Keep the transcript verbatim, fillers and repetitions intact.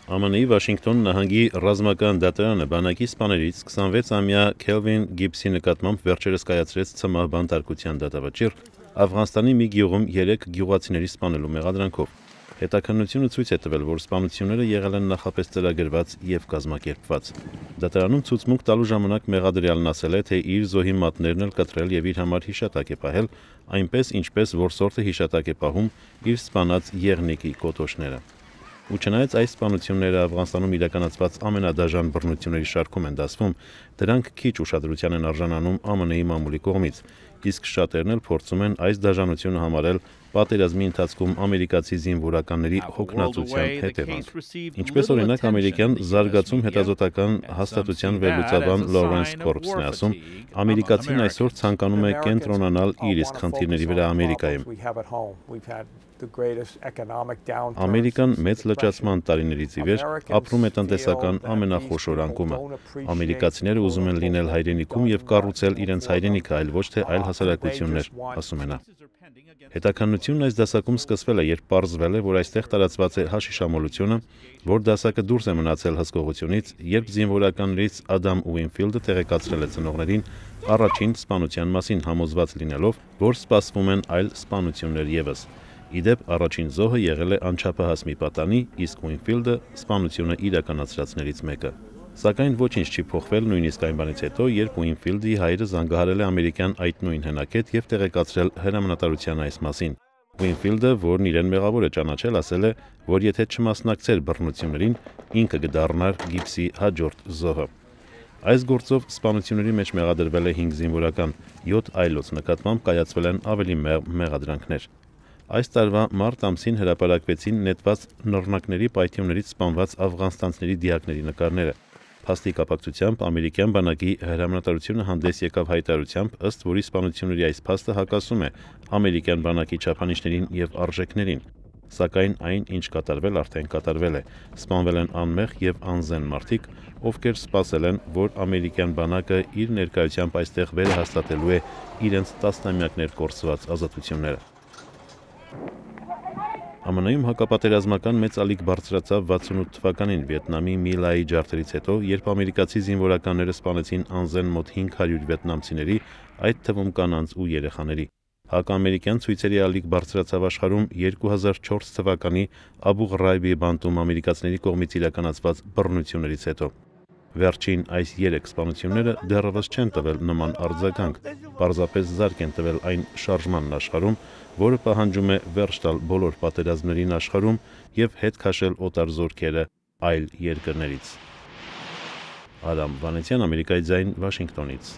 Ամն ի Վաշինգտոն նահանգի ռազմական դատարանը բանակի սպաներից քսանվեցամյա Քելվին Գիբսի նկատմամբ վերջերս կայացրեց ցմահ բանտարկության դատավճիռ Աֆղանստանի մի գյուղում երեք գյուղացիների սպանելու մեղադրանքով։ Հետաքննությունը ցույց է տվել, որ սպանությունները եղել են նախապես ծրագրված եւ կազմակերպված։ Դատարանում ցուցմունք տալու ժամանակ մեղադրյալն ասել է, թե իր զոհի մատներն էլ կտրել եւ իր համար հիշատակ է պահել, այնպես ինչպես որսորդը հիշատակ է պահում իր սպանած եղնիկի կոտոշները։ Ու չնայած այս սպանությունները Աֆղանստանում իրականացված ամենադաժան բռնությունների շարքում են դասվում, դրանք քիչ ուշադրության են արժանանում ԱՄՆ-ի մամուլի կողմից, իսկ շատերն էլ փորձում են այս դաժանությունը համարել պատերազմի ընթացքում ամերիկացի զինվորականների հոգնածության հետևանք։ Ինչպես օրինակ ամերիկյան զարգացում հետազոտական հաստատության վերլուծաբան Լորենս Կորբսն է ասում, ամերիկացին այսօր ցանկանում է կենտրոնանալ իր իսկ խնդիրների վրա Ամերիկայում։ Ամերիկան մեծ լճացման տարիներից ի վեր ապրում է տնտեսական ամենախոշոր անկումը։ Ամերիկացիները ուզում են լինել հայրենիքում եւ կառուցել իրենց հայրենիքը, այլ ոչ թե այլ հասարակություններ, ասում է նա։ Հետաքննությունն այս դասակում սկսվել է, երբ պարզվել է, որ այստեղ տարածված է հաշիշամոլությունը, որ դասակը դուրս է մնացել հսկողությունից, երբ զինվորականներից Ադամ Ուինֆիլդը տեղեկացրել է ծնողներին առաջին սպանության մասին, համոզված լինելով, որ սպասվում են այլ սպանություններ ևս։ Իդեպ առաջին զոհը եղել է անչափահաս մի պատանի, իսկ Ուինֆիլդը սպանությունը իրականացրածներից մեկը։ Սակայն ոչինչ չի փոխվել նույնիսկ այն բանից հետո, երբ Ուինֆիլդի հայրը զանգահարել է ամերիկյան այդ նույն հենակետ եւ տեղեկացրել հրամանատարության այս մասին։ Ուինֆիլդը, որն իրեն մեղավոր է ճանաչել, ասել է, որ եթե չմասնակցեր բռնություններին, ինքը կդառնար Գիբսի հաջորդ զոհը։ Այս գործով սպանությունների մեջ մեղադրվել է հինգ զինվորական, յոթ այլոց նկատմամբ կայացվել են ավելի մեղադրանքներ։ Այս տարվա մարտ ամսին հրապարակվեցին նետված նռնակների պայթյուններից սպանված աֆղանստանցիների դիակների նկարները։ Փաստի կապակցությամբ ամերիկյան բանակի հրամանատարությունը հանդես եկավ հայտարարությամբ, ըստ որի սպանությունների այս փաստը հակասում է ամերիկյան բանակի չափանիշներին եւ արժեքներին։ Սակայն այն, ինչ կատարվել, արդեն կատարվել է։ Սպանվել են անմեղ եւ անզեն մարդիկ, ովքեր սպասել են, որ ամերիկյան բանակը իր ներկայությամբ այստեղ վերահաստատելու է իրենց տասնամյակներ կորսված ազատությունները։ ԱՄՆ-ում հակապատերազմական մեծ ալիք բարձրացավ վաթսունութ թվականին Վիետնամի My Lai ջարդերից հետո, երբ ամերիկացի զինվորականները սպանեցին անզեն մոտ հինգ հարյուր վիետնամցիների, այդ թվում կանանց ու երեխաների։ Հակաամերիկյան ցույցերի ալիք բարձրացավ աշխարհում երկու հազար չորս թվականի Աբու Ղրայբի բանտում ամերիկացիների կողմից իրականացված բռնություններից հետո։ Վերջին այս երեք սպանությունները դեռևս չեն տվել նման արձագանք, պարզապես զարկ են տվել այն շարժմանն աշխարհում, որը պահանջում է վերջ տալ բոլոր պատերազմներին աշխարհում եւ հետ քաշել օտար զորքերը այլ երկրներից։ Արամ Վանեցյան, Ամերիկայի ձայն, Վաշինգտոնից։